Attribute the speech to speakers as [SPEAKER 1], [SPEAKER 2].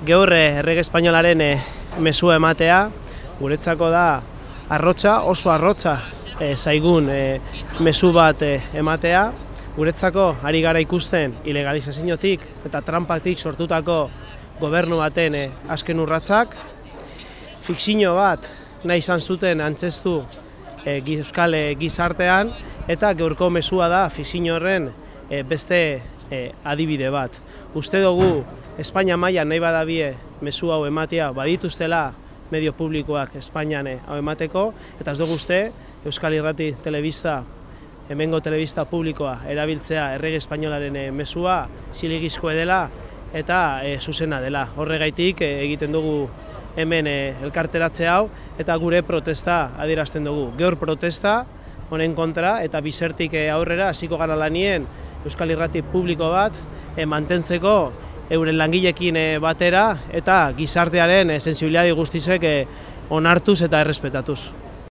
[SPEAKER 1] Gaur errege espainolaren mezua ematea, guretzako da arrotza, oso arrotza zaigun mezu bat ematea. Guretzako ari gara ikusten ilegalizaziotik eta trampatik sortutako gobernu baten azken urratsak. Fikzio bat nahi izan zuten antzestu euskal gizartean, eta gaurko mezua da fikzio horren beste adibide bat. Uste dugu Espainia mailan nahi badabie mezu hau ematea badituztela medio publikoak Espainian hau emateko, eta ez dugu uste Euskal Irrati telebista, hemengo telebista publikoa erabiltzea errege espainolaren mezua zilegizkoa dela eta zuzena dela. Horregaitik egiten dugu hemen elkarteratze hau eta gure protesta adierazten dugu. Gaur protesta honen kontra eta bizertik aurrera hasiko gara lanien Euskal Irrati publiko bat mantentzeko euren langileekin batera eta gizartearen sentsibilitate guztiek onartuz eta errespetatuz.